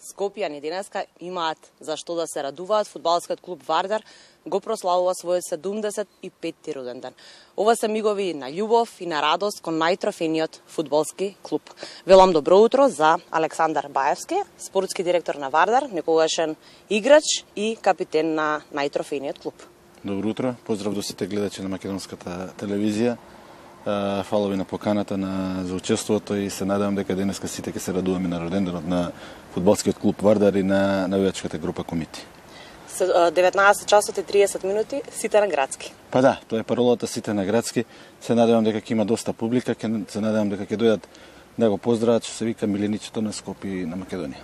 Скопјани денеска имаат за што да се радуваат. Фудбалскиот клуб Вардар го прославува својот 75-ти роден ден. Ова се мигови на љубов и на радост кон најтрофениот фудбалски клуб. Велам добро утро за Александар Баевски, спортски директор на Вардар, некогашен играч и капитен на најтрофениот клуб. Добро утро, поздрав до сите гледачи на македонската телевизија. Фала ви на поканата за учеството и се надевам дека денеска сите ќе се радуваме на роденденот на фудбалскиот клуб Вардар и на навијачката група Комити. 19 часот и 30 минути, сите на градски. Па да, тоа е паролата, сите на градски. Се надевам дека ќе има доста публика, се надевам дека ќе дојдат да го поздрават, што се вика миленичето на Скопје и на Македонија.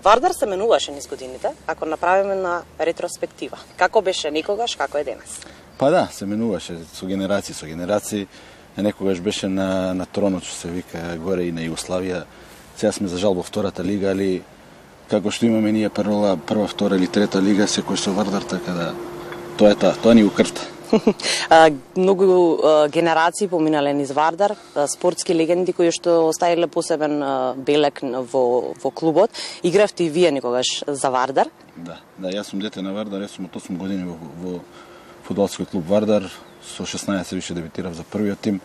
Вардар се менуваше низ годините, ако направиме на ретроспектива. Како беше некогаш, како е денес? Па да, се менуваше со генерации. Некогаш беше на тронот, што се вика, горе и на Југославија. Сега сме за жал во втората лига, али како што имаме ние прва, втора или трета лига, секој со Вардар, така да тоа е тоа ни го крвта. Многу генерации поминале низ Вардар, спортски легенди кои што оставиле посебен белег во клубот. Игравте и вие некогаш за Вардар? Да, јас сум дете на Вардар, јас сум од 8 години во фудбалскиот клуб Вардар. Со 16 више дебитирав за првиот тим,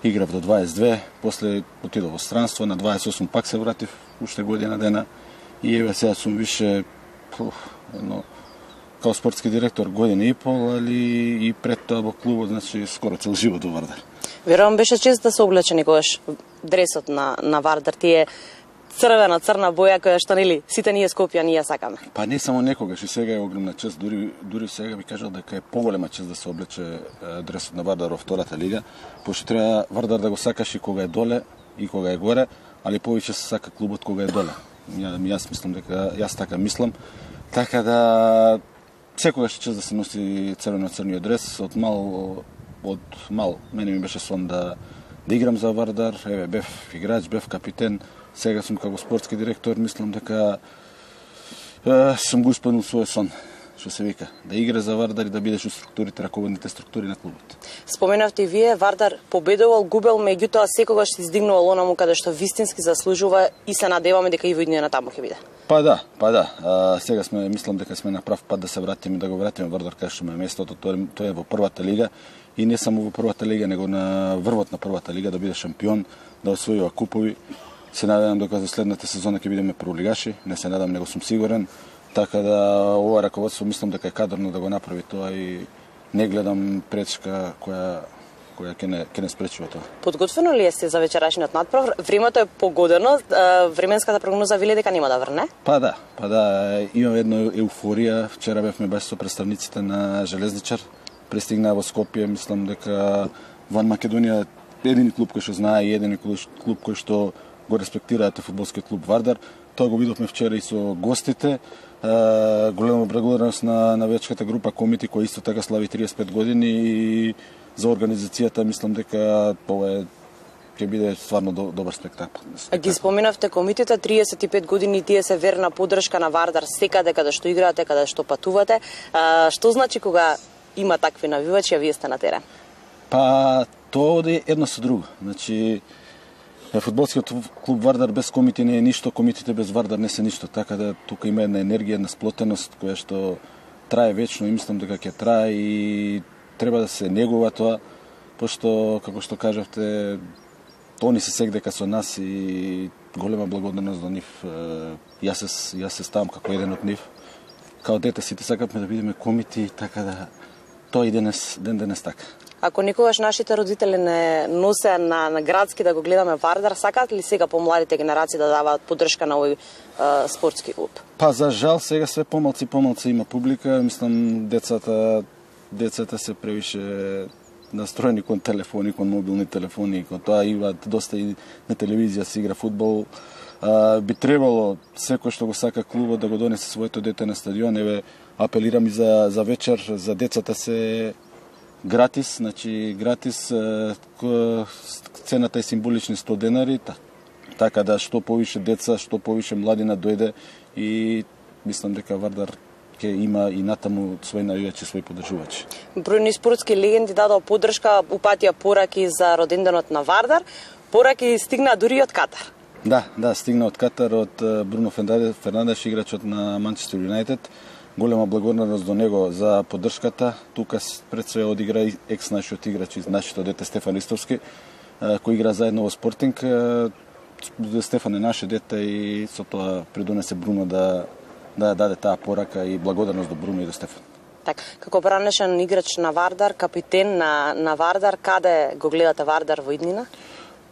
играв до 22, после отидов во странство, на 28 пак се вратив, уште година дена, и еве сега сум више као спортски директор година и пол, али и пред тоа во клубот, значи скоро цел живот во Вардар. Верувам беше чест да се облече некогаш дресот на Вардар, тие црна боја која што нели сите ние Скопјани ја сакаме. Па не само некогаш, и сега е огромна чест, дури сега би кажал дека е поголема чест да се облече дресот на Вардар во втората лига, пошто треба Вардар да го сакаш и кога е доле и кога е горе, али повеќе се сака клубот кога е доле. Јас мислам дека јас така мислам, така да секогаш е чест да се носи црвено-црниот дрес. Од мал мене ми беше сон да играм за Вардар, еве бев играч, бев капитен. Сега сум како спортски директор, мислам дека сум го исполнил својот сон, што се вика, да игра за Вардар и да бидеш у структурите, раководните структури на клубот. Споменавте и вие, Вардар победувал, губел, меѓутоа секогаш се издигнувал онаму каде што вистински заслужува и се надеваме дека и во иднина таму ќе биде. Па да. Сега мислам дека сме на прав пат да се вратиме, да го вратиме Вардар кај што му е местото, тоа е во првата лига и не само во првата лига, него на врвот на првата лига, да биде шампион, да освојува купови. Се надевам дека за следната сезона ќе бидеме прволигаши, не се надам, него сум сигурен, така да ова раководство мислам дека е кадрно да го направи тоа и не гледам пречка која ќе не спречи во тоа. Подготвено ли сте за вечерашниот надпрев? Времето е погодено, временската прогноза вели дека нема да врне? Па да, имам една еуфорија. Вчера бевме баш со представниците на Железничар, пристигнаа во Скопје, мислам дека ван Македонија едини клуб кој што знае и едини клуб кој што го респектираат фудбалскиот клуб Вардар. Тоа го видовме вчера и со гостите. Голема благодарност на навијачката група Комити, која исто така слави 35 години, и за организацијата мислам дека ова ќе биде стварно добар спектакл. Ги споменавте Комитите, 35 години, тие се верна поддршка на Вардар секаде каде што играате, каде што патувате. Што значи кога има такви навивачи, а вие сте на терен? Па тоа оди едно со друго. Значи фудбалскиот клуб Вардар без Комити не е ништо, Комитите без Вардар не се ништо, така да тука има една енергија, една сплотеност која што трае вечно и мислам дека ќе трае и треба да се негува тоа, пошто како што кажавте, они се сегдека со нас и голема благодарност до нив. Јас се ставам како еден од нив. Као дете сите сакавме да бидеме Комити, така да тоа и денес така. Ако никогаш нашите родители не носе на градски да го гледаме Вардар, сакаат ли сега помладите генерации да даваат поддршка на овој спортски клуб? Па за жал сега све помалци има публика. Мислам децата се превише настроени кон телефони, кон мобилни телефони, кон тоа имаат доста и на телевизија се игра фудбал. Би требало секој што го сака клубот да го донесе своето дете на стадион. Еве апелирам и за вечер за децата се гратис, значи гратис, цената е символични 100 денари, така да што повише деца, што повише младина дојде и мислам дека Вардар ќе има и натаму свој навијачи, свој поддржувачи. Бројни спортски легенди дадоа поддршка, упатија пораки за роденденот на Вардар, пораки стигнаа дури од Катар. Да, стигна од Катар од Бруно Фернандеш, играчот на Манчестер Юнайтед. Голема благодарност до него за поддршката. Тука пред се одигра екс нашиот играч из нашето дете Стефан Истовски, кој игра заедно во Спортинг. Стефан е наше дете и со тоа придонесе Бруно да даде таа порака и благодарност до Бруно и до Стефан. Так, како бранешен играч на Вардар, капитен на Вардар, каде го гледате Вардар во иднина?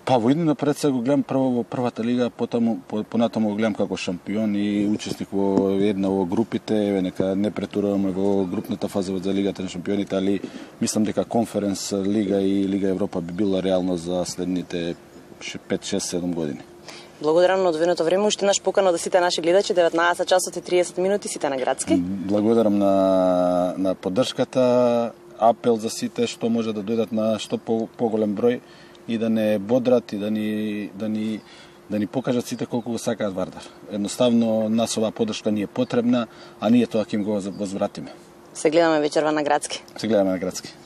Па во иднина пред се го гледам прво во првата лига, понатаму го гледам како шампион и учесник во една во групите, нека не претуруваме во групната фаза за Лигата на шампионите, али мислам дека Конференс лига и Лига Европа би била реално за следните 5, 6, 7 години. Благодарам на одвоеното време, уште наш покана да сите наши гледачи, 19 часот и 30 минути, сите на Градски. Благодарам на поддршката, апел за сите што може да дојдат на што поголем број и да не бодрат и да ни покажат сите колку го сакаат Вардар. Едноставно нас оваа поддршка ни е потребна, а ние тоа ќе им го возвратиме. Се гледаме вечерва на Градски.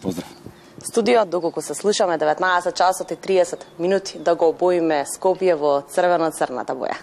Поздрав. Студио, доколку се слушаме 19 часот и 30 минути да го обоиме Скопје во црвено-црната боја.